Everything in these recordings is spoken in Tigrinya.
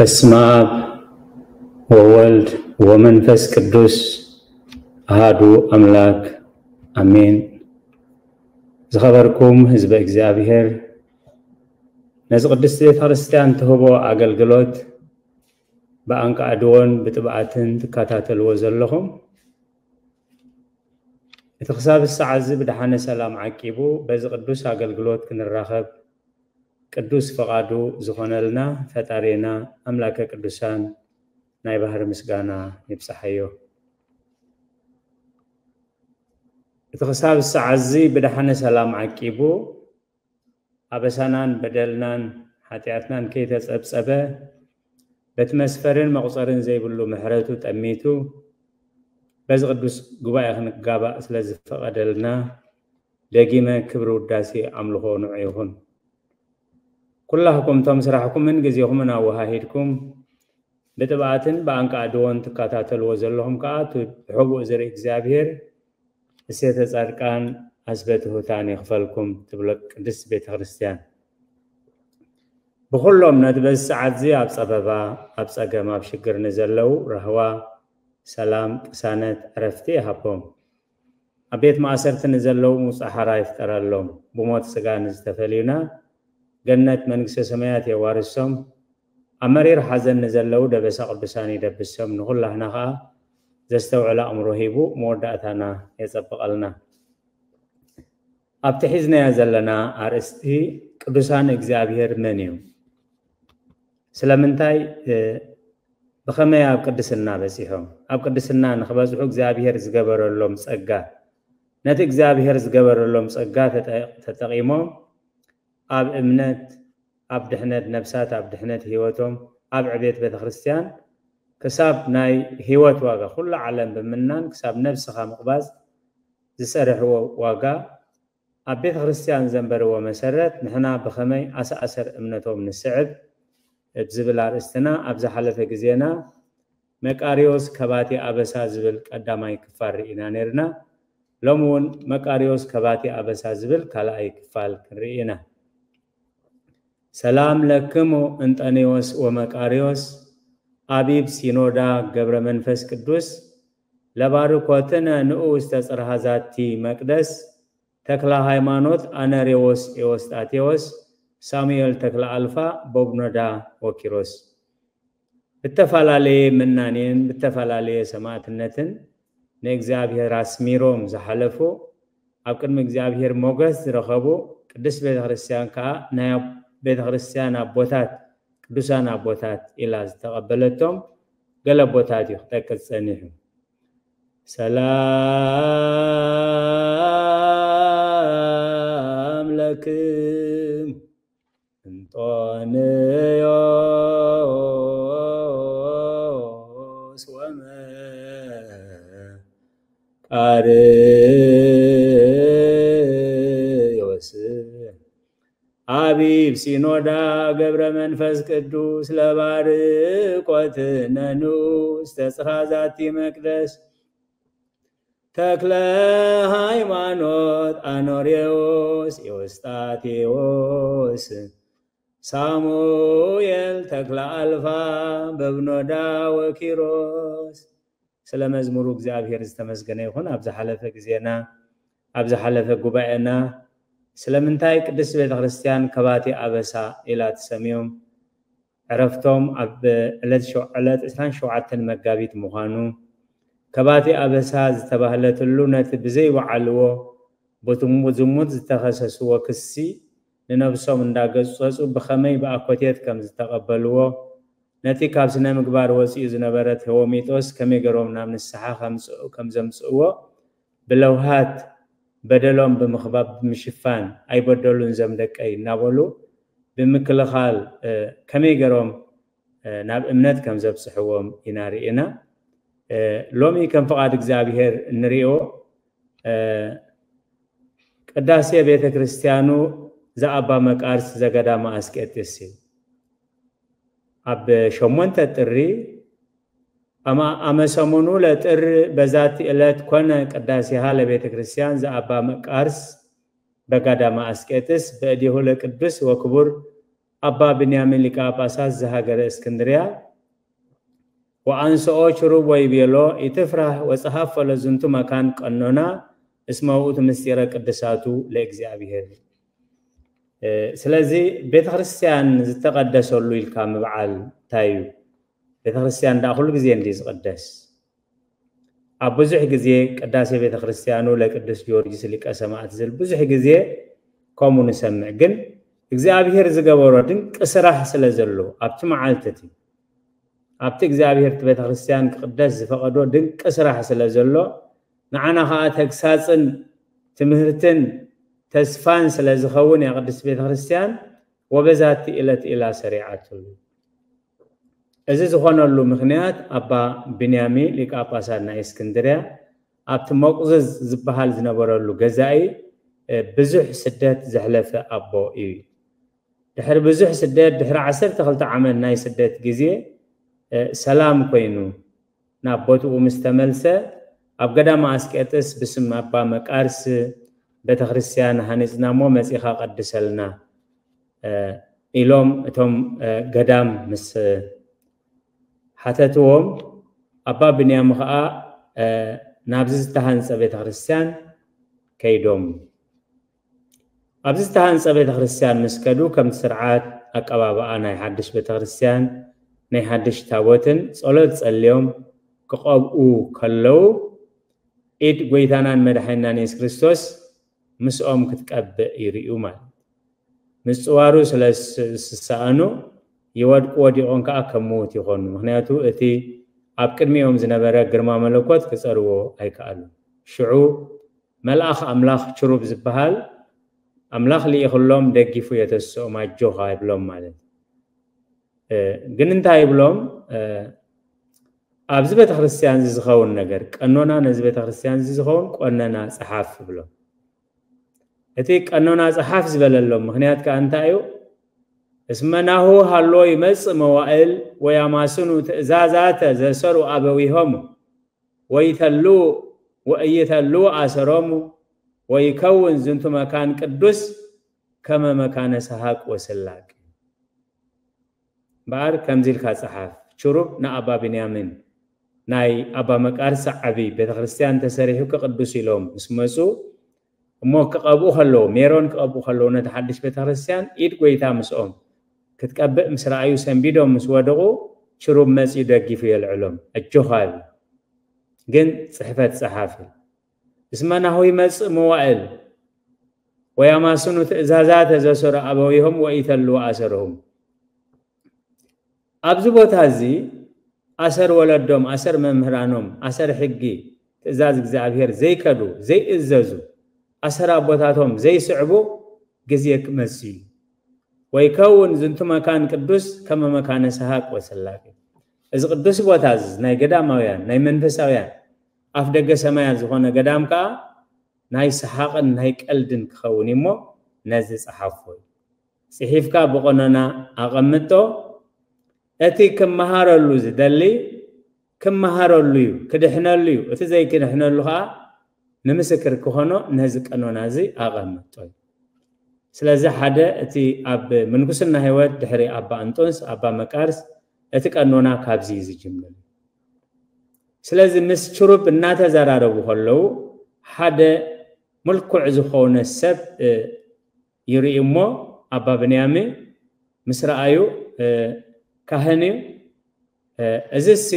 በስመ አብ ወወልድ ወመንፈስ ቅዱስ አሃዱ አምላክ አሜን። ዝኸበርኩም ህዝበ እግዚኣብሔር፣ ነዚ ቅድስቲ ቤተ ክርስቲያን ትህቦ ኣገልግሎት ብኣንቃዕድዎን ብጥብዓትን ትከታተልዎ ዘለኹም፣ እቲ ክሳብ ሰዓት እዚ ብደሓነ ሰላም ዓቂቡ በዚ ቅዱስ ኣገልግሎት ክንራኸብ ቅዱስ ፈቓዱ ዝኾነልና ፈጣሪና ኣምላከ ቅዱሳን ናይ ባህሪ ምስጋና ይብጽሓዮ። እቲ ክሳብ ሰዓት እዚ ብደሓነ ሰላም ዓቂቡ ኣበሳናን በደልናን ሓጢኣትናን ከይተጸብጸበ በቲ መስፈርን መቑጸርን ዘይብሉ ምሕረቱ ጠሚቱ በዚ ቅዱስ ጉባኤ ክንጋባእ ስለ ዝፈቐደልና ደጊመ ክብሪ ውዳሴ ኣምልኾ ንዑ ይኹን። ኩላህኩም እቶም ስራሕኩምን ግዜኹምን ኣወሃሂድኩም ብጥብኣትን ብኣንቃዕድዎን ትከታተልዎ ዘለኹም ከኣ እቲ ብሕቡእ ዝርኢ እግዚኣብሔር እሴተ ጻድቃን ኣስበ ትሑታን ይኽፈልኩም ትብሎ ቅድስቲ ቤተ ክርስቲያን። ብኹሎም ነቲ በዚ ሰዓት እዚ ኣብ ጸበባ፣ ኣብ ጸገም፣ ኣብ ሽግር ንዘለዉ ራህዋ፣ ሰላም፣ ቅሳነት፣ ዕረፍቲ ይሃቦም። ኣብ ቤት ማእሰርቲ ንዘለዉ ምውጻእ ሓራ ይፍጠረሎም። ብሞት ስጋ ንዝተፈልዩና ገነት መንግስተ ሰማያት የዋርሶም። ኣብ መሪር ሓዘን ንዘለዉ ደበሳ ቅዱሳን ይደብሶም። ንኹላህና ኸኣ ዘስተውዕል ኣእምሮ ሂቡ መወዳእታና የጸብቐልና። ኣብቲ ሒዝናዮ ዘለና ኣርእስቲ ቅዱሳን እግዚኣብሔር መን እዮም? ስለምንታይ፣ እ፣ ብኸመይ ኣብ ቅድስና በጺሖም? ኣብ ቅድስና ንኽበጽሑ እግዚኣብሔር ዝገበረሎም ጸጋ፣ ነቲ እግዚኣብሔር ዝገበረሎም ጸጋ ተጠ-፣ ተጠቒሞም ኣብ እምነት፣ ኣብ ድሕነት ነፍሳት፣ ኣብ ድሕነት ህይወቶም፣ ኣብ ዕቤት ቤተ ክርስቲያን፣ ክሳብ ናይ ህይወት ዋጋ፣ ኩሉ ዓለም ብምናን ክሳብ ነፍስኻ ምቕባዝ ዝሰርሕዎ ዋጋ፣ ኣብ ቤተ ክርስቲያን ዘንበርዎ መሰረት ንሕና ብኸመይ ኣሰኣሰር እምነቶም ንስዕብ? ብ ዝብል ኣርእስትና ኣብ ዝሓለፈ ግዜና መቃርዮስ ከባቲ ኣበሳ ዝብል ቀዳማይ ክፋል ርኢና ነይርና። ሎሚ እውን መቃርዮስ ከባቲ ኣበሳ ዝብል ካልኣይ ክፋል ክንርኢ ኢና። ሰላም ለክሙ እንጠንዮስ ወመቃርዮስ፣ አቢብ ሲኖዳ ገብረ መንፈስ ቅዱስ፣ ለባርኮትነ ንዑ ውስተ ጽርሃ ዛቲ መቅደስ፣ ተክለ ሃይማኖት ኣነሬዎስ ኤዎስጣቴዎስ፣ ሳሙኤል ተክለ ኣልፋ፣ ቦብኖዳ ወኪሮስ። ብተፈላለየ ምናኔን ብተፈላለየ ሰማዕትነትን ንእግዚኣብሔር ኣስሚሮም ዝሓለፉ፣ ኣብ ቅድሚ እግዚኣብሔር ሞገስ ዝረኸቡ፣ ቅድስት ቤተ ክርስቲያን ከኣ ናይ ኣብ-፣ ቤተ ክርስቲያን ኣቦታት፣ ቅዱሳን ኣቦታት ኢላ ዝተቐበለቶም ገለ ኣቦታት እዩ ክጠቅስ ጸኒሑ። ሰላም ለክም እንጦንዮስ ወመቃርዮስ፣ አቢብ ሲኖዳ ገብረ መንፈስ ቅዱስ፣ ለባርኮትነ ንዑ ውስተ ጽርሃ ዛቲ መቅደስ፣ ተክለ ሃይማኖት አኖሬዎስ ኤዎስጣቴዎስ፣ ሳሙኤል ተክለ ኣልፋ፣ በብኖዳ ወኪሮስ። ስለ መዝሙሩ እግዚኣብሔር ዝተመስገነ ይኹን። ኣብ ዝሓለፈ ግዜና፣ ኣብ ዝሓለፈ ጉባኤና ስለምንታይ ቅድስት ቤተ ክርስቲያን ከባቲ ኣበሳ ኢላ ትሰምዮም? ዕረፍቶም ኣብ ዕለት ሸው-፣ ዕለት ዕስራን ሸውዓተን መጋቢት ምዃኑ፣ ከባቲ ኣበሳ ዝተባህለትሉ ነቲ ብዘይወዓልዎ ብዝሙ-፣ ዝሙት ዝተኸሰስዎ ክሲ ንነብሶም እንዳገጸጹ ብኸመይ ብኣኮቴት ከም ዝተቐበልዎ፣ ነቲ ካብ ስነ ምግባር ወጺኡ ዝነበረ ቴዎሚጦስ ከመይ ገሮም ናብ ንስሓ ከምጽ-፣ ከም ዘምጽእዎ፣ ብለውሃት በደሎም ብምኽባብ ብምሽፋን፣ "ኣይበደሉን ዘም ደቀይ" እናበሉ ብምክልኻል፣ እ፣ ከመይ ገሮም፣ እ፣ ናብ እምነት ከም ዘብጽሕዎም ኢና ርኢና። እ፣ ሎሚ ከም ፍቓድ እግዚኣብሔር እንርእዮ፣ እ፣ ቅዳሴ ቤተ ክርስቲያኑ ዘኣባ መቃርስ ዘገዳመ ኣስቄጥስ እዩ። ኣብ ሸሞንተ ጥሪ፣ ኣማ-፣ ኣመ ሰሙኑ ለጥር በዛቲ ዕለት ኮነ ቅዳሴሃ ለቤተ ክርስቲያን ዘኣባ መቃርስ በጋዳመ ኣስቄጥስ በእዴሁ ለቅዱስ ወክቡር ኣባ ብንያሚን ሊቀ ጳጳሳት ዘሃገረ እስክንድርያ ወኣንስኦ ችሩብ ወይቤሎ ኢትፍራህ ወጸሐፎ ለዝንቱ መካን ቀኖና እስመ ውእቱ ምስጢረ ቅድሳቱ ለእግዚኣብሔር። ስለዚ ቤተክርስትያን ዝተቐደሰሉ ኢልካ ምብዓል እንታይ እዩ? ቤተክርስትያን ደኣ ኩሉ ግዜ እንዲ ዝቕደስ ኣብ ብዙሕ ግዜ ቅዳሴ ቤተክርስትያኑ ለቅዱስ ጊዮርጊስ ሊቀ ሰማዕት ዝብል ብዙሕ ግዜ ከምኡ ንሰምዕ። ግን እግዚኣብሔር ዝገበሮ ድንቂ ስራሕ ስለ ዘሎ ኣብቲ መዓልቲ እቲ ኣብቲ እግዚኣብሔር እቲ ቤተክርስትያን ክቕደስ ዝፈቐዶ ድንቂ ስራሕ ስለ ዘሎ ንዓና ከዓ ተግሳፅን ትምህርትን ተስፋን ስለ ዝኸውን እያ ቅድስት ቤተክርስትያን ወበዛቲ ዕለት ኢላ ሰሪዓትሉ። እዚ ዝኾነሉ ምኽንያት ኣባ ብንያሚ ሊቀ ጳጳሳት ናይ እስክንድርያ ኣብቲ መቁዝዝ ዝበሃል ዝነበረሉ ገዛኢ ብዙሕ ስደት ዘሕለፈ ኣቦ እዩ። ድሕሪ ብዙሕ ስደት ድሕሪ ዓሰርተ ክልተ ዓመት ናይ ስደት ግዜ ሰላም ኮይኑ ናብ ቦትኡ ምስ ተመልሰ ኣብ ገዳማ ኣስቄጥስ ብስም ኣባ መቃርስ ቤተክርስትያን ሃኒፅና እሞ መፂኻ ቀድሰልና ኢሎም እቶም ገዳም ምስ ሓተትዎም ኣባ ብንያም ከዓ ናብዚ ዝተሃንፀ ቤተክርስትያን ከይዶም ኣብዚ ዝተሃንፀ ቤተክርስትያን ምስ ከዱ ከምቲ ስርዓት ኣቀባብኣ ናይ ሓድሽ ቤተክርስትያን ናይ ሓድሽ ታቦትን ፀሎት ፀልዮም ክቐብኡ ከለዉ ኢድ ጎይታናን መድሓኒናን የሱስ ክርስቶስ ምስኦም ክትቀብእ ይርእዩ ማለት ምፅዋሩ ስለ ዝሰኣኑ ይወድቁ ወዲቖም ከዓ ከም ምዉት ይኾኑ ምክንያቱ እቲ ኣብ ቅድሚኦም ዝነበረ ግርማ መለኮት ክፀርዎ ኣይከኣሉ ሽዑ መልኣኽ ኣምላኽ ችሩብ ዝበሃል ኣምላኽ ልኢኽሎም ደጊፉ የተስኦም ኣጆኻ ይብሎም ማለት ግን እንታይ ይብሎም ኣብዚ ቤተክርስትያን እዚ ዝኸውን ነገር ቀኖና ነዚ ቤተክርስትያን እዚ ዝኸውን ቆነና ፀሓፍ ይብሎም እቲ ቀኖና ፀሓፍ ዝበለሎም ምክንያት ከዓ እንታይ እዩ እስመ ናሁ ሃሎ ይመፅእ መዋእል ወያማስኑ ትእዛዛተ ዘሰሩ ኣበዊሆሙ ወይተሉ ወእይተሉ ኣሰሮሙ ወይከውን ዝንቱ መካን ቅዱስ ከመ መካነ ሰሃቅ ወስላቅ እምበኣር ከምዚ ኢልካ ፀሓፍ ችሩብ ንኣባ ብንያምን ናይ ኣባ መቃርስ ዓቢ ቤተክርስትያን ተሰሪሑ ክቅዱስ ኢሎም ምስ መፁ እሞ ክቐብኡ ከለዉ ሜሮን ክቐብኡ ከለዉ ነቲ ሓድሽ ቤተክርስትያን ኢድ ጎይታ ምስኦም ክትቀብእ ምስ ረኣዩ ሰንቢዶም ምስ ወደቑ ችሩብ መፂኡ ደጊፉ የልዕሎም ኣጆኻ ይብል ግን ፅሕፈት ፀሓፊ እስመ ናሁ ይመፅእ መዋእል ወያማስኑ ትእዛዛተ ዘሰሩ ኣበዊሆም ወኢተልዉ ኣሰርሁም ኣብዚ ቦታ እዚ ኣሰር ወለዶም ኣሰር መምህራኖም ኣሰር ሕጊ ትእዛዝ እግዚኣብሔር ዘይከዱ ዘይእዘዙ ኣሰር ኣቦታቶም ዘይስዕቡ ግዜ ክመጽእ እዩ። ወይከውን ዝንቱ መካን ቅዱስ ከመ መካነ ሰሃቅ ወሰላቂ። እዚ ቅዱስ ቦታ እዚ ናይ ገዳማውያን ናይ መንፈሳውያን ኣፍ ደገ ሰማያት ዝኾነ ገዳም ከኣ ናይ ሰሓቕን ናይ ቀልድን ክኸውን እሞ ነዚ ጸሓፎ እዩ። ጽሒፍካ ብቆነና ኣቐምጦ። እቲ ክመሃረሉ ዝደሊ ክመሃረሉ እዩ፣ ክድሕነሉ እዩ። እቲ ዘይክድሕነሉ ከኣ ንምስክር ክኾኖ ነዚ ቀኖና እዚ ኣቐምጦ እዩ። ስለዚ ሓደ እቲ ኣብ ምንኩስና ህይወት ድሕሪ ኣባ እንጦንስ ኣባ መቃርስ እቲ ቀኖና ካብዚ እዩ ዝጅምር። ስለዚ ምስ ችሩብ እናተዘራረቡ ከለዉ ሓደ ምልኩዕ ዝኾነ ሰብ ይርኢ እሞ ኣባ ብንያሚ ምስ ረኣዩ ካህን እዩ። እዚሲ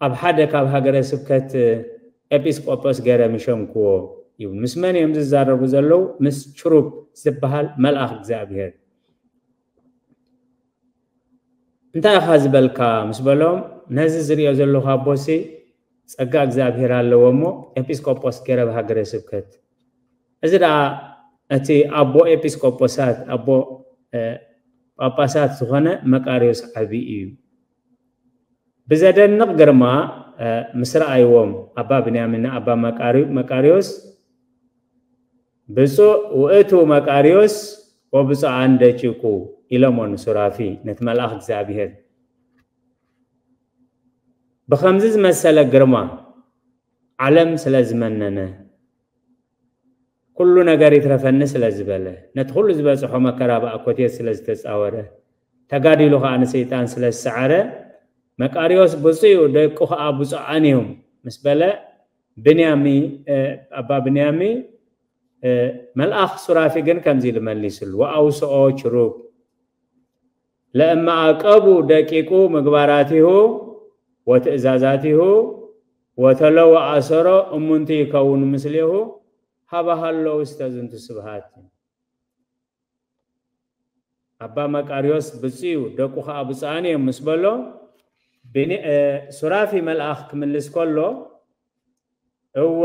ኣብ ሓደ ካብ ሃገረ ስብከት ኤጲስቆጶስ ገይረ ምሸምክዎ ይብል። ምስ መን እዮም ዝዛረቡ ዘለዉ? ምስ ችሩብ ዝበሃል መልኣኽ እግዚኣብሔር። እንታይ ኢኻ ዝበልካ ምስ በሎም፣ ነዚ ዝሪኦ ዘለኹ ኣቦሲ ጸጋ እግዚኣብሔር ኣለዎ እሞ ኤጲስቆጶስ ገይረ ብሃገረ ስብከት። እዚ ደኣ እቲ ኣቦ ኤጲስቆጶሳት ኣቦ ጳጳሳት ዝኾነ መቃርዮስ ዓቢ እዩ። ብዘደንቕ ግርማ ምስ ረኣይዎም ኣባ ብንያሚን ኣባ መቃርዮስ ብፁዕ ውእቱ መቃርዮስ ወብፁዓን ደቂቁ ኢሎሞ ንሱራፊ ነቲ መልኣኽ እግዚኣብሔር ብኸምዚ ዝመሰለ ግርማ ዓለም ስለ ዝመነነ ኩሉ ነገር ይትረፈኒ ስለ ዝበለ፣ ነቲ ኩሉ ዝበጽሖ መከራ ብኣኮቴት ስለ ዝተጻወረ፣ ተጋዲሉ ከኣ ንሰይጣን ስለ ዝሰዓረ፣ መቃርዮስ ብፁዕ እዩ፣ ደቁ ከኣ ብፁዓን እዮም ምስ በለ፣ ብንያሚ፣ እ፣ ኣባ ብንያሚ፣ እ፣ መልኣኽ ሱራፊ ግን ከምዚ ኢሉ መሊስሉ፣ "ወኣውስኦ ችሩብ ለእመ ኣቀቡ ደቂቁ ምግባራቲሁ ወትእዛዛቲሁ ወተለወ ኣሰሮ እሙንቲ ይከውኑ ምስሌሁ ሃበ ሃሎ ውስተ ዝንቱ ስብሃት." ኣባ መቃርዮስ ብፁዕ እዩ፣ ደቁ ኸዓ ብፁዓን እዮም ምስ በሎ፣ ብኒ-፣ እ፣ ሱራፊ መልኣኽ ክምልስ ከሎ፣ እወ፣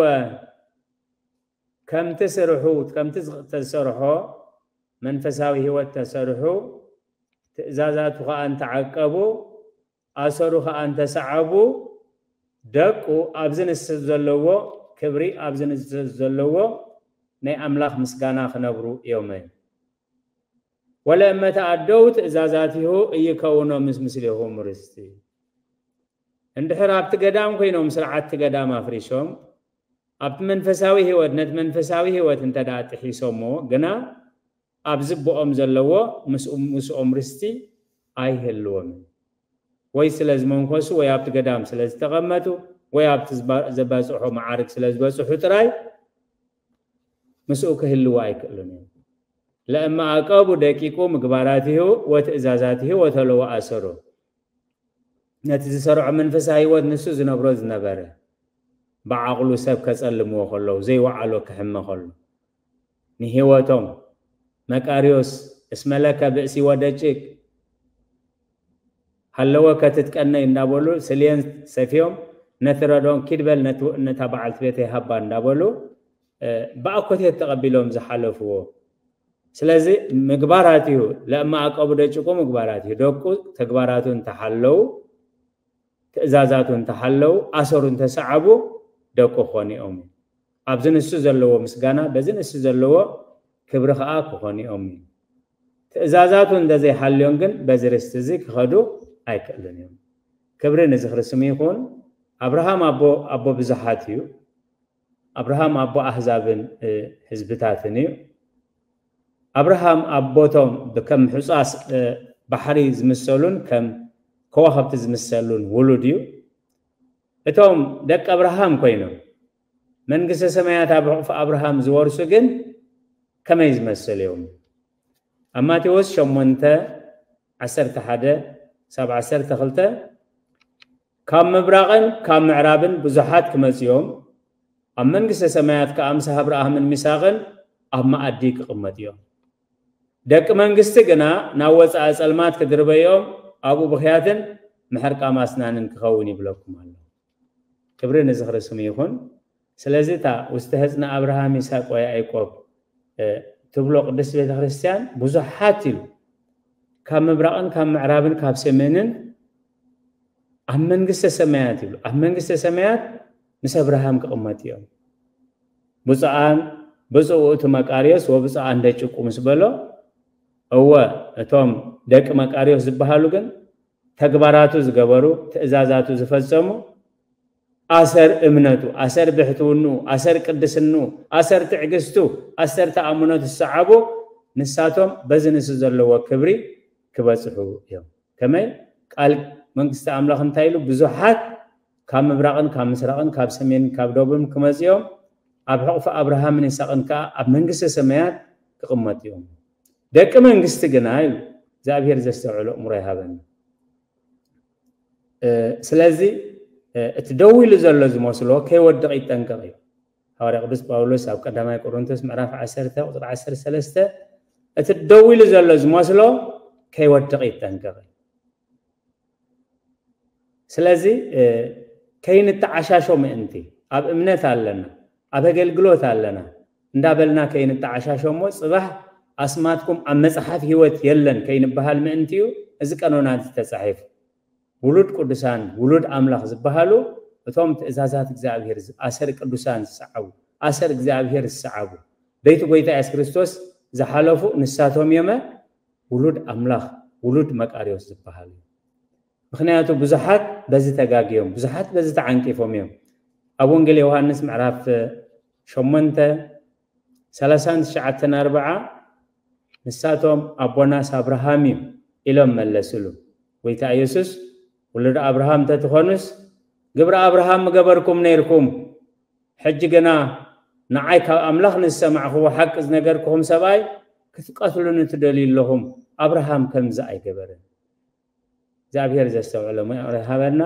ከምቲ ስርሑ፣ ከምቲ ዝኽ-፣ ተሰርሖ መንፈሳዊ ህይወት ተሰርሑ፣ ትእዛዛቱ ኸዓ እንተዓቀቡ፣ ኣሰሩ ኸዓ እንተሰዓቡ፣ ደቁ ኣብዚ ንሱ ዘለዎ ክብሪ፣ ኣብዚ ንሱ ዘለዎ ናይ ኣምላኽ ምስጋና ክነብሩ እዮም። ወለእመ ተኣደው ትእዛዛቲሁ እይከውኖ ምስ ምስሌኹም ርስቲ። እንድሕር ኣብቲ ገዳም ኮይኖም ስርዓት እቲ ገዳም ኣፍሪሶም፣ ኣብቲ መንፈሳዊ ህይወት፣ ነቲ መንፈሳዊ ህይወት እንተ ደኣ ጥሒሶሞ ግና፣ ኣብዚ ብኦም ዘለዎ ምስኡ-፣ ምስኦም ርስቲ ኣይህልዎምን። ወይ ስለ ዝመንኮሱ፣ ወይ ኣብቲ ገዳም ስለ ዝተቐመጡ፣ ወይ ኣብቲ ዝባ-፣ ዘባጽሖ መዓርግ ስለ ዝበጽሑ ጥራይ ምስኡ ክህልዉ ኣይክእሉን እዮም። ለእመ ኣቀቡ ደቂቁ ምግባራቲሁ ወትእዛዛቲሁ ወተለወ ኣሰሩ። ነቲ ዝሰርዖ መንፈሳዊ ህይወት ንሱ ዝነብሮ ዝነበረ፣ ብዓቕሉ ሰብ ከጸልምዎ ከለዉ፣ ዘይወዓሎ ክሕመ ከሎ፣ ንህይወቶም መቃርዮስ እስመ ለከ ብእሲ ወደቂቅ ሃለወ ከትትቀነይ እንዳበሉ ስልየን ሰፍዮም፣ ነቲ ረዶን ኪድ በል ነቲ-፣ ነታ በዓልቲ ቤተይ ሃባ እንዳበሉ፣ እ፣ ብኣኮቴት ተቐቢሎም ዝሓለፍዎ። ስለዚ ምግባራቲሁ፣ ለእመ ኣቀቡ ደቂቁ ምግባራቲሁ፣ ደቁ ተግባራቱ እንተሓለዉ፣ ትእዛዛቱ እንተሓለዉ፣ ኣሰሩ እንተሰዓቡ፣ ደቁ ክኾኑ እዮም። ኣብዚ ንሱ ዘለዎ ምስጋና፣ በዚ ንሱ ዘለዎ ክብሪ ኸዓ ክኾኑ እዮም። ትእዛዛቱ እንተዘይሓልዮም ግን፣ በዚ ርስቲ እዚ ክኸዱ ኣይክእሉን እዮም። ክብሪ ንዝኽሪ ስሙ ይኹን። ኣብርሃም ኣቦ፣ ኣቦ ብዙሓት እዩ። ኣብርሃም ኣቦ ኣህዛብን፣ እ፣ ህዝብታትን እዩ። ኣብርሃም ኣቦቶም ብከም ሕጻስ፣ እ፣ ባሕሪ ዝምሰሉን ከም ከዋኽብቲ ዝምሰሉን ውሉድ እዩ። እቶም ደቂ ኣብርሃም ኮይኖም መንግስተ ሰማያት ኣብ ሕቑፊ ኣብርሃም ዝወርሱ ግን ከመይ ዝመስሉ እዮም? ኣብ ማቴዎስ ሸሞንተ ዓሰርተ ሓደ ክሳብ ዓሰርተ ክልተ፣ ካብ ምብራቕን ካብ ምዕራብን ብዙሓት ክመጹ እዮም፣ ኣብ መንግስተ ሰማያት ከኣ ምስ ኣብርሃምን ሚሳቕን ኣብ መኣዲ ክቕመጡ እዮም። ደቂ መንግስቲ ግና ናብ ወጻኢ ጸልማት ክድርበዮም፣ ኣብኡ ብኽያትን ምሕርቃም ኣስናንን ክኸውን ይብለኩም ኣሎ። ክብሪ ንዝኽሪ ስሙ ይኹን። ስለዚ እታ ውስተ ህጽኒ ኣብርሃም ይስሐቅ ወያዕቆብ፣ እ፣ ትብሎ ቅድስት ቤተ ክርስቲያን ብዙሓት ኢሉ፣ ካብ ምብራቕን ካብ ምዕራብን ካብ ሰሜንን ኣብ መንግስተ ሰማያት ይብሉ። ኣብ መንግስተ ሰማያት ምስ ኣብርሃም ክቕመጡ እዮም። ብፁዓን ብፁዕ ውእቱ መቃርዮስ ወብፁዓን ደቂቁ ምስ በሎ፣ እወ፣ እቶም ደቂ መቃርዮስ ዝበሃሉ ግን ተግባራቱ ዝገበሩ፣ ትእዛዛቱ ዝፈጸሙ፣ ኣሰር እምነቱ፣ ኣሰር ብሕትውንኡ፣ ኣሰር ቅድስንኡ፣ ኣሰር ትዕግስቱ፣ ኣሰር ተኣምኖቱ ዝሰዓቡ፣ ንሳቶም በዚ ንሱ ዘለዎ ክብሪ ክበጽሑ እዮም። ከመይ? ቃል መንግስቲ ኣምላኽ እንታይ ኢሉ? ብዙሓት ካብ ምብራቕን ካብ ምስራቕን ካብ ሰሜንን ካብ ደቡብን ክመጹ እዮም፣ ኣብ ሕቑፊ ኣብርሃምን ይስሐቅን ከኣ ኣብ መንግስተ ሰማያት ክቕመጡ እዮም። ደቂ መንግስቲ ግና ኢሉ፣ እግዚኣብሔር ዘስተውዕሎ እምሮ ይሃበና። እ፣ ስለዚ፣ እ፣ እቲ ደው ኢሉ ዘሎ ዝመስሎ ከይወድቕ ይጠንቀቕ እዩ። ሃዋርያ ቅዱስ ጳውሎስ ኣብ ቀዳማይ ቆሮንቶስ ምዕራፍ ዓሰርተ ቁጽሪ ዓሰርተ ሰለስተ፣ እቲ ደው ኢሉ ዘሎ ዝመስሎ ከይወድቕ ይጠንቀቕ እዩ። ስለዚ፣ እ፣ ከይንተዓሻሾ ምእንቲ፣ ኣብ እምነት ኣለና፣ ኣብ ኣገልግሎት ኣለና እንዳበልና ከይንተዓሻሾ እሞ፣ ጽባሕ ኣስማትኩም ኣብ መጽሓፍ ህይወት የለን ከይንበሃል ምእንቲ እዩ እዚ ቀኖና እዚ ተጻሒፉ። ውሉድ ቅዱሳን፣ ውሉድ ኣምላኽ ዝበሃሉ፣ እቶም ትእዛዛት እግዚኣብሔር ዝ-፣ ኣሰር ቅዱሳን ዝሰዓቡ፣ ኣሰር እግዚኣብሔር ዝሰዓቡ፣ በይቲ ጐይታ የሱስ ክርስቶስ ዝሓለፉ ንሳቶም እዮመ ውሉድ ኣምላኽ፣ ውሉድ መቃርዮስ ዝበሃሉ። ምኽንያቱ ብዙሓት በዚ ተጋግዮም፣ ብዙሓት በዚ ተዓንቂፎም እዮም። ኣብ ወንጌል ዮሃንስ ምዕራፍ ሸሞንተ ሰላሳን ትሽዓተን ኣርብዓ ንሳቶም ኣቦናስ ኣብርሃም እዩ ኢሎም መለስሉ። ጎይታ ኢየሱስ ውሉድ ኣብርሃም እንተትኾኑስ ግብሪ ኣብርሃም ምገበርኩም ነይርኩም። ሕጂ ግና ንዓይ ካብ ኣምላኽ ንዝሰማዕኽዎ ሓቂ ዝነገርኩኹም ሰብኣይ ክትቀትሉኒ ትደልዩ ኣለኹም። ኣብርሃም ከምዚ ኣይገበረን። እግዚኣብሔር ዘስተውዕሎ ምእረ ሃበና።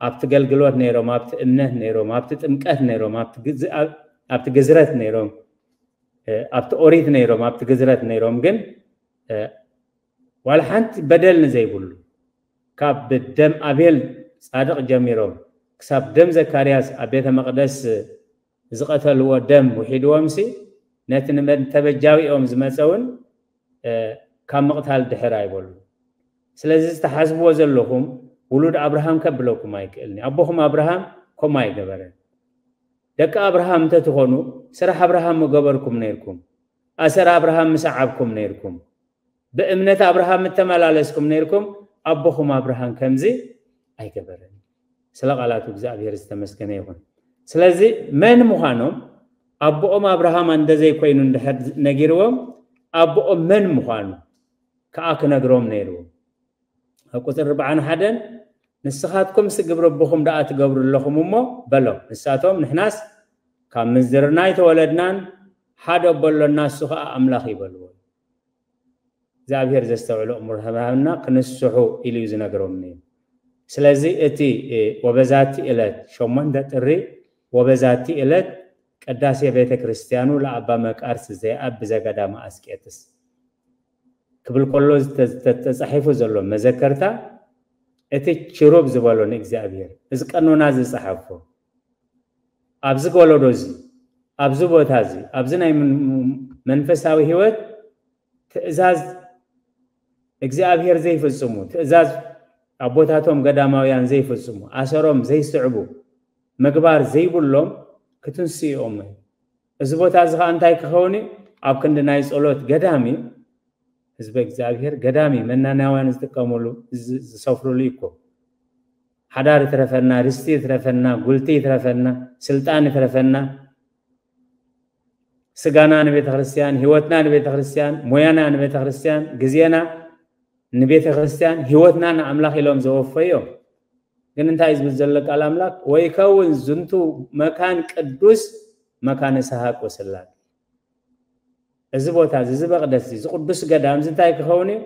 ኣብቲ ገልግሎት ነይሮም፣ ኣብቲ እምነት ነይሮም፣ ኣብቲ ጥምቀት ነይሮም፣ ኣብቲ ግዝ-፣ ኣብ-፣ ኣብቲ ግዝረት ነይሮም፣ እ፣ ኣብቲ ኦሪት ነይሮም፣ ኣብቲ ግዝረት ነይሮም፣ ግን፣ እ፣ ዋላ ሓንቲ በደል ንዘይብሉ ካብ ደም ኣቤል ጻድቕ ጀሚሮም ክሳብ ደም ዘካርያስ ኣብ ቤተ መቕደስ ዝቐተልዎ ደም ውሒድዎም ሲ ነቲ ንመተበጃዊኦም ዝመጸ እውን፣ እ፣ ካብ ምቕታል ድሕር ኣይበሉ። ስለዚ ዝተሓዝብዎ ዘለኹም ውሉድ ኣብርሃም ከብለኩም ኣይክእልኒ። ኣቦኹም ኣብርሃም ከምኡ ኣይገበረን። ደቂ ኣብርሃም እንተትኾኑ ስራሕ ኣብርሃም ምገበርኩም ነይርኩም። ኣሰር ኣብርሃም ምሰዓብኩም ነይርኩም። ብእምነት ኣብርሃም ምተመላለስኩም ነይርኩም። ኣቦኹም ኣብርሃም ከምዚ ኣይገበረን። ስለ ቃላቱ እግዚኣብሔር ዝተመስገነ ይኹን። ስለዚ መን ምዃኖም ኣቦኦም ኣብርሃም እንደ ዘይኮይኑ እንድሕር ነጊርዎም ኣቦኦም መን ምዃኑ ከኣ ክነግሮም ነይርዎም። ኣብ ቁጽሪ ኣርባዓን ሓደን ንስኻትኩምስ ግብሪ ኣቦኹም ደኣ ትገብሩ ኣለኹም እሞ በሎም። ንሳቶም ንሕናስ ካብ ምንዝርና ኣይተወለድናን ሓደ ኣቦ ኣሎና እሱ ከኣ ኣምላኽ ይበልዎ። እግዚኣብሔር ዘስተውዕሎ እሙር ሃብና ክንስሑ ኢሉ እዩ ዝነግሮም ነይሩ። ስለዚ እቲ፣ እ፣ ወበዛቲ ዕለት ሸሞንተ ጥሪ ወበዛቲ ዕለት ቅዳሴ ቤተ ክርስቲያኑ ለኣባ መቃርስ ዘይኣብ ብዘገዳመ ኣስቄጥስ ክብል ከሎ ዝተ-፣ ዝተ-፣ ተጻሒፉ ዘሎ መዘከርታ እቲ ችሩብ ዝበሎ ንእግዚኣብሔር እዚ ቀኖና ዝጸሓፎ ኣብዚ ወለዶ እዚ ኣብዚ ቦታ እዚ ኣብዚ ናይ ምን-፣ መንፈሳዊ ህይወት ትእዛዝ እግዚኣብሔር ዘይፍጽሙ፣ ትእዛዝ ኣቦታቶም ገዳማውያን ዘይፍጽሙ፣ ኣሰሮም ዘይስዕቡ፣ ምግባር ዘይብሎም ክትንስኡ እዮም። እዚ ቦታ እዚ ኸዓ እንታይ ክኸውን እዩ? ኣብ ክንዲ ናይ ጸሎት ገዳም እዩ። ህዝበ እግዚኣብሔር ገዳም እዩ። መናናውያን ዝጥቀሙሉ፣ ዝ-፣ ዝሰፍሩሉ እዩ እኮ። ሓዳር ይትረፈና፣ ርስቲ ይትረፈና፣ ጉልቲ ይትረፈና፣ ስልጣን ይትረፈና፣ ስጋና ንቤተ ክርስቲያን፣ ህይወትና ንቤተ ክርስቲያን፣ ሞያና ንቤተ ክርስቲያን፣ ግዜና ንቤተ ክርስቲያን፣ ህይወትና ንኣምላኽ ኢሎም ዘወፈዩ እዮም። ግን እንታይ እዩ ዝብል ዘሎ ቃል ኣምላኽ? "ወይከውን ዝንቱ መካን ቅዱስ መካነ ሰሐቅ ወስላቅ።" እዚ ቦታ እዚ፣ እዚ መቕደስ እዚ፣ እዚ ቅዱስ ገዳም እዚ እንታይ ክኸውን እዩ?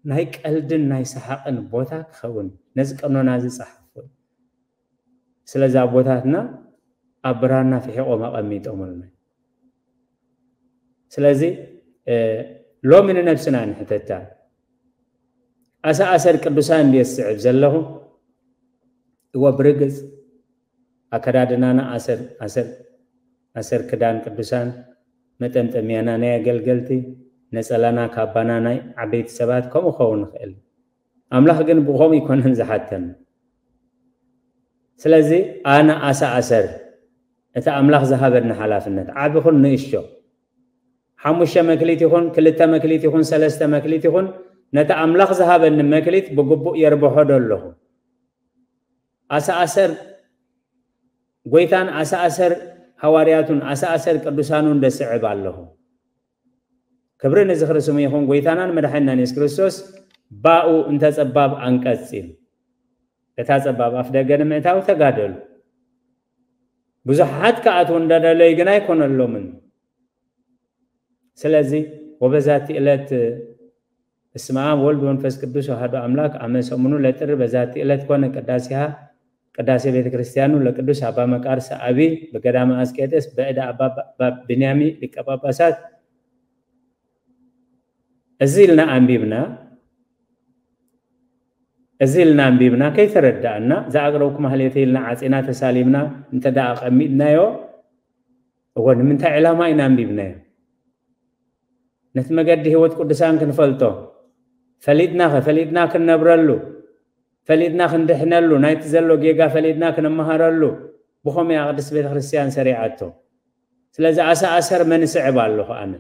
ናይ ቀልድን ናይ ሰሓቕን ቦታ ክኸውን እዩ። ነዚ ቀኖና እዚ ጸሓፉ። ስለዚ ኣቦታትና ኣብ ብራና ፍሒቖም ኣቐሚጦምልና። ስለዚ፣ እ፣ ሎሚ ንነብስና ንሕተታ። ኣሰኣሰር ቅዱሳን እንድየ ዝስዕብ ዘለኹ? እወ፣ ብርግጽ ኣከዳድናና ኣሰር፣ ኣሰር፣ ኣሰር ክዳን ቅዱሳን፣ መጠምጠምያና ናይ ኣገልገልቲ፣ ነጸላና ካባና ናይ ዓበይቲ ሰባት ከምኡ ክኸውን ይኽእል። ኣምላኽ ግን ብኸምኡ ኣይኮነን ዝሓተና። ስለዚ ኣነ ኣሰኣሰር እቲ ኣምላኽ ዝሃበኒ ሓላፍነት ዓቢ ኹን ንእሽቶ፣ ሓሙሽተ መክሊት ይኹን፣ ክልተ መክሊት ይኹን፣ ሰለስተ መክሊት ይኹን፣ ነቲ ኣምላኽ ዝሃበኒ መክሊት ብግቡእ የርብሖ ዶ ኣለኹ? ኣሰኣሰር ጎይታን ኣሰኣሰር ሃዋርያቱን ኣሰኣሰር ቅዱሳኑን ደስዕብ ኣለኹ። ክብሪ ንዝኽሪ ስሙ ይኹን። ጎይታናን መድሓኒናን የሱስ ክርስቶስ ባኡ እንተ ጸባብ ኣንቀጽ ኢሉ፣ እታ ጸባብ ኣፍ ደገ ንምእታው ተጋደሉ። ብዙሓት ክኣትዉ እንዳደለዩ ግን ኣይኮነሎምን። ስለዚ ወበዛቲ ዕለት በስመ አብ ወልድ ወመንፈስ ቅዱስ አሐዱ አምላክ አመ ሰሙኑ ለጥር በዛቲ ዕለት ኮነ ቅዳሴሃ ቅዳሴ ቤተ ክርስቲያኑ ለቅዱስ አባ መቃርስ አቢ በገዳመ አስቄጥስ በእደ አባ፣ አባ ብንያሚ ሊቀ ጳጳሳት። እዚ ኢልና አንቢብና፣ እዚ ኢልና አንቢብና ከይተረዳእና፣ ዘአቅረብኩ ማህሌተ ኢልና ዓጺና ተሳሊምና እንተ ደኣ ኣቐሚጥናዮ፣ እወ፣ ንምንታይ ዕላማ ኢና ኣንቢብናዮ? ነቲ መገዲ ህይወት ቅዱሳን ክንፈልጦ፣ ፈሊጥናኸ፣ ፈሊጥና ክንነብረሉ፣ ፈሊጥና ክንድሕነሉ፣ ናይቲ ዘሎ ጌጋ ፈሊጥና ክንመሃረሉ፣ ብኸመይ እያ ቅድስት ቤተ ክርስቲያን ሰሪዓቶ? ስለዚ ኣሰኣሰር መን እስዕብ ኣለኹ ኣነ?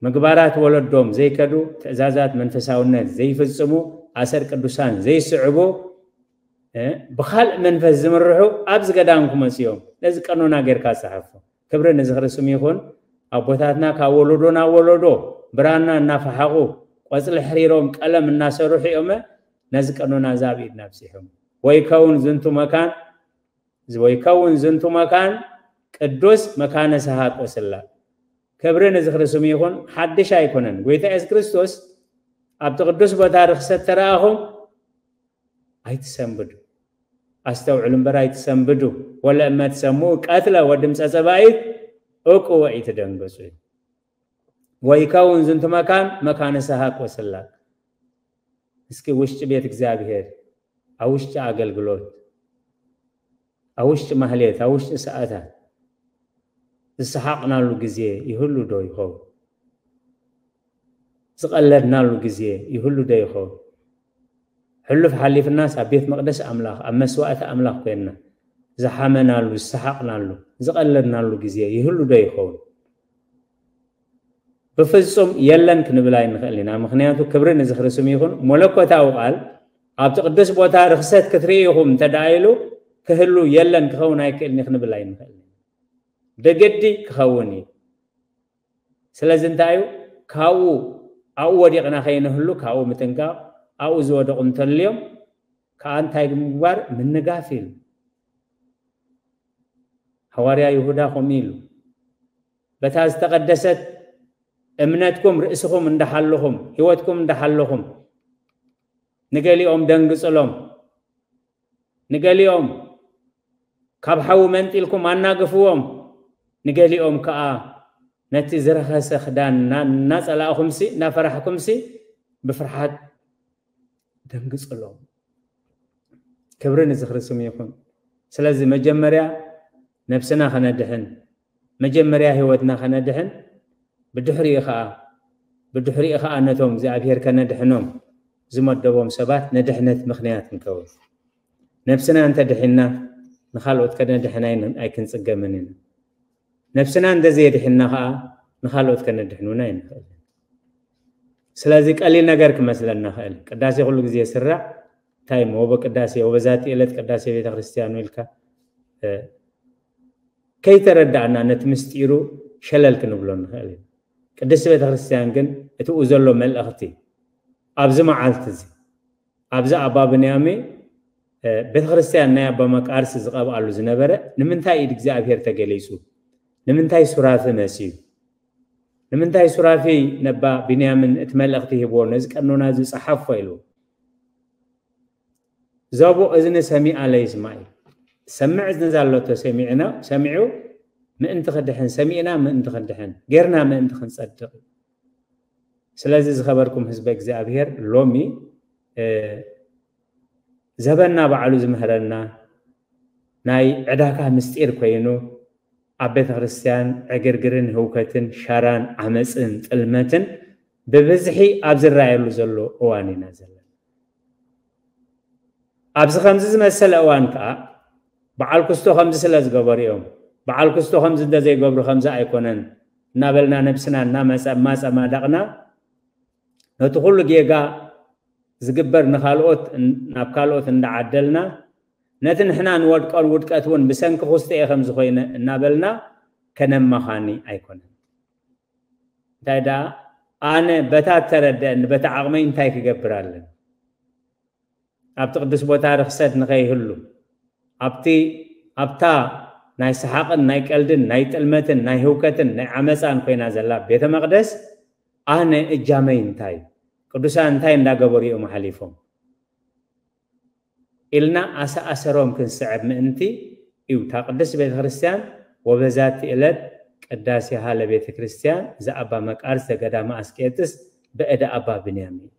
ምግባራት ወለዶም ዘይከዱ፣ ትእዛዛት መንፈሳውነት ዘይፍጽሙ፣ ኣሰር ቅዱሳን ዘይስዕቡ፣ እ፣ ብኻልእ መንፈስ ዝምርሑ ኣብዚ ገዳም ክመጹ እዮም። ነዚ ቀኖና ጌርካ ጸሓፎ። ክብሪ ንዝኽሪ ስሙ ይኹን። ኣቦታትና ካብ ወለዶ ናብ ወለዶ ብራና እናፈሓቑ፣ ቆጽሊ ሕሪሮም ቀለም እናሰርሑ እዮም ነዚ ቀኖና እዚ ኣብ ኢድና ኣብጺሖም። ወይከውን ዝንቱ መካን፣ ወይከውን ዝንቱ መካን ቅዱስ መካነ ሰሃቅ ወስላቅ። ክብሪ ንዝኽሪ ስሙ ይኹን። ሓድሽ ኣይኮነን። ጎይታ የሱስ ክርስቶስ ኣብቲ ቅዱስ ቦታ ርኽሰት ተረኣኹም ኣይትሰንብዱ፣ ኣስተውዕሉ እምበር ኣይትሰንብዱ። ወለእመ ትሰምዑ ቀትለ ወድምፀ ጸባኢት እቁ ወኢትደንግጹ። ወይከውን ዝንቱ መካን መካነ ሰሃቅ ወስላቅ። እስኪ ውሽጢ ቤት እግዚኣብሔር፣ ኣብ ውሽጢ ኣገልግሎት፣ ኣብ ውሽጢ ማህሌት፣ ኣብ ውሽጢ ሰዓታት ዝሰሓቕናሉ ግዜ ይህሉ ዶ ይኸውን? ዝቐለድናሉ ግዜ ይህሉ ዶ ይኸውን? ሕሉፍ ሓሊፍናስ ኣብ ቤት መቕደስ ኣምላኽ፣ ኣብ መስዋእቲ ኣምላኽ ኮይንና ዝሓመናሉ፣ ዝሰሓቕናሉ፣ ዝቐለድናሉ ግዜ ይህሉ ዶ ይኸውን? ብፍጹም የለን ክንብል ኣይንኽእል ኢና። ምኽንያቱ ክብሪ ንዝኽሪ ስሙ ይኹን። መለኮታዊ ቃል ኣብቲ ቅዱስ ቦታ ርኽሰት ክትርኢ ኢኹም እንተ ደኣ ኢሉ ክህሉ የለን ክኸውን ኣይክእልን እዩ ክንብል ኣይንኽእል። ብግዲ ክኸውን እዩ። ስለዚ እንታይ እዩ? ካብኡ ኣብኡ ወዲቕና ከይንህሉ ካብኡ ምጥንቃቕ፣ ኣብኡ ዝወደቑ እንተልዮም ከኣ እንታይ ምግባር? ምንጋፍ ኢሉ። ሃዋርያ ይሁዳ ከምኡ ኢሉ። በታ ዝተቐደሰት እምነትኩም ርእስኹም እንዳሓለኹም፣ ህይወትኩም እንዳሓለኹም፣ ንገሊኦም ደንግጽሎም፣ ንገሊኦም ካብ ሓዊ መንጢልኩም ኣናግፍዎም፣ ንገሊኦም ከኣ ነቲ ዝረኸሰ ክዳን እና-፣ እናጸላእኹምሲ፣ እናፈራሕኩምሲ፣ ብፍርሓት ደንግጽሎም። ክብሪ ንዝኽሪ ስሙ ይኹን። ስለዚ መጀመርያ ነብስና ከነድሕን፣ መጀመርያ ህይወትና ከነድሕን፣ ብድሕሪኡ ኸኣ፣ ብድሕሪኡ ኸኣ ነቶም እግዚኣብሔር ከነድሕኖም ዝመደቦም ሰባት ንድሕነት ምኽንያት ንከውን። ነብስና እንተ ድሒንና፣ ንኻልኦት ከነድሕን ኣይን-፣ ኣይክንጽገምን ኢና። ነብስና እንተ ዘየድሒንና ኸኣ፣ ንኻልኦት ከነድሕኑና ኣይንኽእልን። ስለዚ ቀሊል ነገር ክመስለና ኽእል። ቅዳሴ ኩሉ ግዜ ይስራዕ፣ እንታይ እሞ ወበ ቅዳሴ፣ ወበዛቲ ዕለት ቅዳሴ ቤተ ክርስቲያን ኢልካ፣ እ፣ ከይተረዳእና ነቲ ምስጢሩ ሸለል ክንብሎ ንኽእል ኢና። ቅድስቲ ቤተ ክርስቲያን ግን እቲኡ ዘሎ መልእኽቲ ኣብዚ መዓልቲ እዚ፣ ኣብዚ ኣባ ብንያሚ፣ እ፣ ቤተ ክርስቲያን ናይ ኣባ መቃርስ ዝቐብኣሉ ዝነበረ ንምንታይ ኢድ እግዚኣብሔር ተገሊጹ? ንምንታይ ሱራፊ መጺኡ? ንምንታይ ሱራፊ ነባ ብንያምን እቲ መልእኽቲ ሂብዎ፣ ነዚ ቀኖና እዚ ጸሓፎ ኢሉ? ዘቡ እዝኒ ሰሚዓ ለይስማዕ እዩ። ሰምዕ እዝኒ ዛለቶ ሰሚዕና፣ ሰሚዑ ምእንቲ ክድሕን፣ ሰሚዕና ምእንቲ ክንድሕን፣ ጌርና ምእንቲ ክንጸድቕ እዩ። ስለዚ ዝኸበርኩም ህዝበ እግዚኣብሔር፣ ሎሚ፣ እ፣ ዘበና ባዕሉ ዝምህረና ናይ ዕዳጋ ምስጢር ኮይኑ፣ ኣብ ቤተ ክርስቲያን ዕግርግርን ህውከትን ሸራን ዓመፅን ጥልመትን ብብዝሒ ኣብ ዝረኣየሉ ዘሎ እዋን ኢና ዘለና። ኣብዚ ከምዚ ዝመሰለ እዋን ከዓ በዓል ክስቶ ከምዚ ስለ ዝገበሩ እዮም፣ በዓል ክስቶ ከምዚ እንተዘይገብሩ ከምዚ ኣይኮነን እናበልና ነብስና እናመፀ-፣ ማፀማዳቕና ነቲ ኩሉ ጌጋ ዝግበር ንኻልኦት እን-፣ ናብ ካልኦት እንዳዓደልና ነቲ ንሕና ንወድቀሉ ውድቀት እውን ብሰንኪ ክስቶ እየ ከምዚ ኮይነ እናበልና ከነመኻኒ ኣይኮነን። እንታይ ደኣ ኣነ በታ እተረደአኒ በታ ዓቕመይ እንታይ ክገብር ኣለኒ? ኣብቲ ቅዱስ ቦታ ርኽሰት ንኸይህሉ፣ ኣብቲ፣ ኣብታ ናይ ሰሓቕን ናይ ቀልድን ናይ ጥልመትን ናይ ህውከትን ናይ ዓመፃን ኮይና ዘላ ቤተ መቕደስ ኣነ እጃመይ እንታይ? ቅዱሳን እንታይ እንዳገበሩ እዮም ሓሊፎም? ኢልና ኣሰኣሰሮም ክንስዕብ ምእንቲ እዩ። እታ ቅድስት ቤተ ክርስቲያን ወበዛቲ ዕለት ቅዳሴሃ ለቤተ ክርስቲያን ዘኣባ መቃርስ ዘገዳመ ኣስቄጥስ በእደ ኣባ ብንያም እዩ።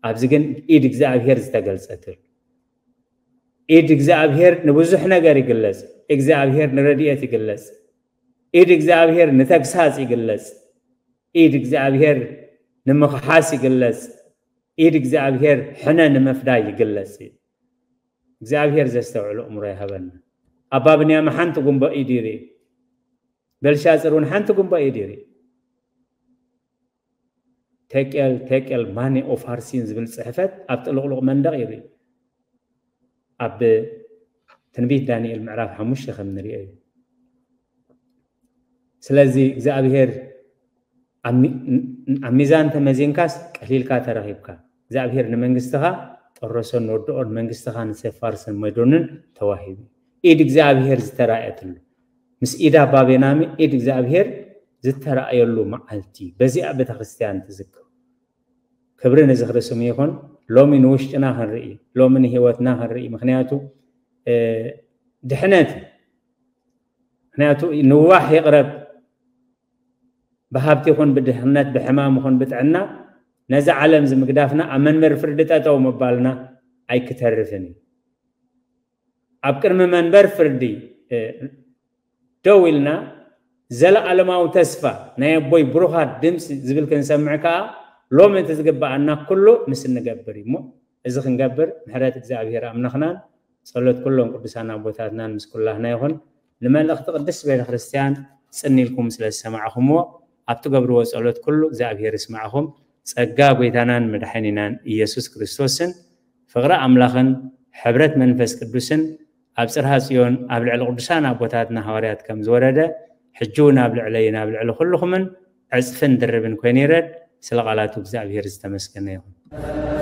ኣብዚ ግን ኢድ እግዚኣብሔር ዝተገልጸትሉ። ኢድ እግዚኣብሔር ንብዙሕ ነገር ይግለጽ። እግዚኣብሔር ንረድኤት ይግለጽ። ኢድ እግዚኣብሔር ንተግሳጽ ይግለጽ። ኢድ እግዚኣብሔር ንምኽሓስ ይግለጽ። ኢድ እግዚኣብሔር ሕነ ንምፍዳይ ይግለጽ እዩ። እግዚኣብሔር ዘስተውዕል ኣእምሮ ይሃበና። ኣባ ብንያም ሓንቲ ጉንቦ ኢድ ይርኢ። በልሻጽር እውን ሓንቲ ጉንቦ ኢድ ይርኢ። ቴቄል፣ ቴቄል፣ ማኔ ኦፋርሲን ዝብል ጽሕፈት ኣብ ጥልቕሉቕ መንደቕ ይርኢ። ኣብ ትንቢት ዳንኤል ምዕራፍ ሓሙሽተ ከም ንሪኦ እዩ። ስለዚ እግዚኣብሔር ኣብ ሚዛን ተመዚንካስ ቀሊልካ ተረኺብካ። እግዚኣብሔር ንመንግስትኻ ጠረሶን ወድኦን መንግስትኻ ንሴፋርስን መዶንን ተዋሂቡ። ኢድ እግዚኣብሔር ዝተራእየትሉ፣ ምስ ኢዳ ባቤናሚ ኢድ እግዚኣብሔር ዝተራእየሉ መዓልቲ በዚኣ ቤተክርስትያን ትዝክር። ክብሪ ንዝኽሪ ስሙ ይኹን። ሎሚ ንውሽጥና ክንርኢ፣ ሎሚ ንህይወትና ክንርኢ። ምክንያቱ ድሕነት፣ ምክንያቱ ንዋሕ ይቕረብ። ብሃብቲ ይኹን ብድህነት፣ ብሕማም ይኹን ብጥዕና፣ ነዚ ዓለም ዝምግዳፍና ኣብ መንበር ፍርዲ ጠጠው ምባልና ኣይክተርፍን እዩ። ኣብ ቅድሚ መንበር ፍርዲ ደው ኢልና ዘለኣለማዊ ተስፋ ናይ ኣቦይ ብሩኻት ድምፂ ዝብል ክንሰምዕ ከዓ ሎሚ እቲ ዝግበኣና ኩሉ ምስ እንገብር እዩ። እሞ እዚ ክንገብር ምሕረት እግዚኣብሔር ኣምላኽናን ጸሎት ኩሎም ቅዱሳን ኣቦታትናን ምስ ኩላህና ይኹን። ንመልእኽቲ ቅድስት ቤተክርስትያን ጽን ኢልኩም ስለ ዝሰማዕኹምዎ ኣብ ትገብርዎ ጸሎት ኩሉ እግዚኣብሔር ይስማዕኹም። ጸጋ ጎይታናን መድሓኒናን ኢየሱስ ክርስቶስን ፍቕሪ ኣምላኽን ሕብረት መንፈስ ቅዱስን ኣብ ጽርሃ ጽዮን ኣብ ልዕሊ ቅዱሳን ኣቦታትና ሃዋርያት ከም ዝወረደ ሕጂ እውን ኣብ ልዕለይን ኣብ ልዕሊ ኩልኹምን ዕጽፍን ድርብን ኮይኑ ይረድ። ስለ ቃላቱ እግዚኣብሔር ዝተመስገነ ይኹን።